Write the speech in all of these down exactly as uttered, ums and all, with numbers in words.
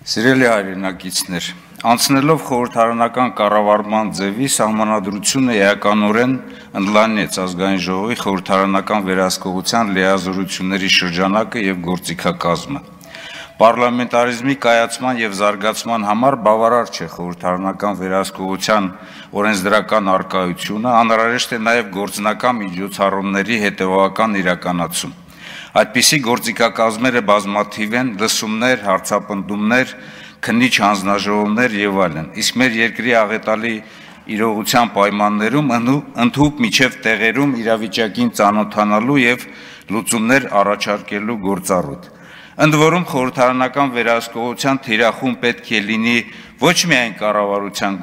Սիրելի հայրենակիցներ, անցնելով խորհրդարանական կառավարման ձևի սահմանադրությունը էականորեն ընդլայնեց ազգային ժողովի խորհրդարանական վերահսկողության լիազորությունների շրջանակը եւ գործիքակազմը։ Պարլամենտարիզմի կայացման եւ զարգացման համար բավարար չէ խորհրդարանական վերահսկողության օրենսդրական առկայությունը, անհրաժեշտ է նաեւ գործնական միջոցառումների հետեւողական իրականացում։ Այդպիսի գործիքակազմերը բազմաթիվ են, լսումներ, հարցապնդումներ, քննիչ հանձնաժողովներ եւ այլն։ Իսկ մեր երկրի աղետալի իրողության պայմաններում ընդհուպ միջև տեղերում իրավիճակին ծանոթանալու եւ լուծումներ առաջարկելու գործառույթ։ Ընդ որում խորհրդարանական վերահսկողության թիրախում պետք է լինի ոչ միայն կառավարության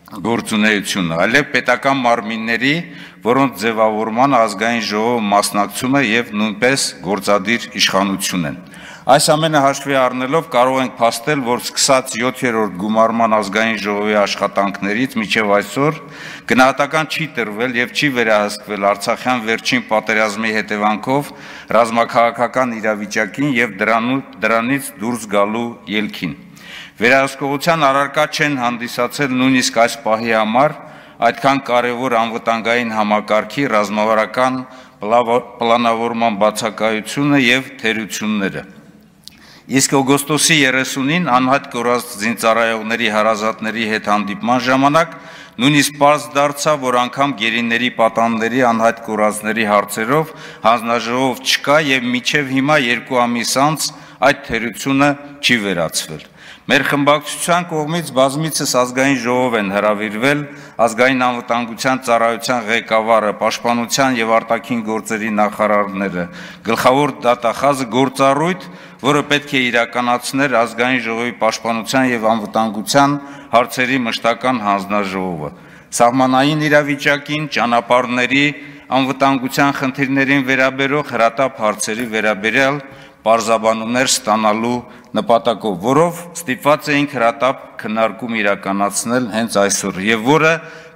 գործունեությունը, այլև պետական մարմինների, որոնց ձևավորման ազգային ժողովը մասնակցում է եւ նույնպես գործադիր իշխանություն են։ Այս ամենը հաշվի առնելով կարող ենք փաստել, որ սկսած յոթերորդ գումարման ազգային ժողովի աշխատանքներից մինչև այսօր գնահատական չի տրվել եւ չի վերահսկվել Արցախյան վերջին պատերազմի հետևանքով ռազմաքաղաքական իրավիճակին եւ դրանից դուրս գալու ելքին։ Վերահսկողության առարկա չեն հանդիսացել նույնիսկ այս պահի համար այդքան կարևոր անվտանգային համակարգի ռազմավարական պլանավորման բացակայությունը եւ թերությունները։ Իսկ օգոստոսի երեսունին անհատ կորած զինծառայողների հարազատների հետ հանդիպման ժամանակ նույնիսկ պարզ դարձավ, որ անգամ գերիների պատանների անհատ կորածների հարցերով հանձնաժողով չկա եւ մինչեւ հիմա երկու ամիս անց այդ թերությունը չի վերացվել։ Մեր խմբակցության կողմից բազմիցս ազգային ժողով են հրավիրվել ազգային անվտանգության ծառայության ղեկավարը, պաշտպանության եւ արտաքին գործերի նախարարները, գլխավոր դատախազը գործառույթ, որը պետք է իրականացներ ազգային ժողովի պաշտպանության եւ անվտանգության հարցերի մշտական հանձնաժողովը։ Սահմանային իրավիճակին, ճանապարհների անվտանգության խնդիրներին վերաբերող հրատապ հարցերի վերաբերյալ պարզաբանումներ ստանալու նպատակով, որով ստիպված էինք հրատապ քննարկում իրականացնել հենց այսօր եւ որը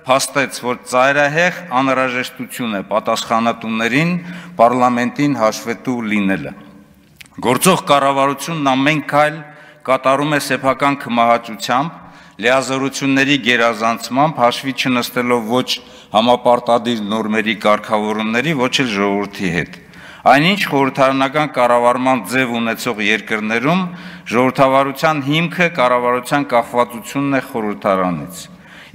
փաստեց, որ ծայրահեղ անհրաժեշտություն է պատասխանատուներին պարլամենտին հաշվետու լինելը։ Գործող կառավարությունն ամեն քայլ կատարում է սեփական քմահաճությամբ, լիազորությունների գերազանցմամբ, հաշվի չնստելով ոչ համապարտադիր նորմերի կարգավորումների, ոչ էլ ժողովրդի հետ։ Այնինչ խորհրդարանական կառավարման ձև ունեցող երկրներում ժողովրդավարության հիմքը կառավարության կախվածությունն է խորհրդարանից։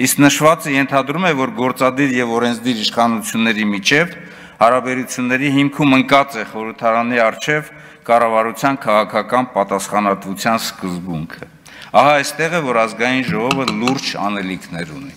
Իսկ նշվածը ենթադրում է, որ գործադիր եւ օրենսդիր իշխանությունների միջև հարաբերությունների հիմքում ընկած է խորհրդարանի առջև կառավարության քաղաքական պատասխանատվության սկզբունքը։ Ահա այստեղ է, որ ազգային ժողովը լուրջ անելիքներ ունի։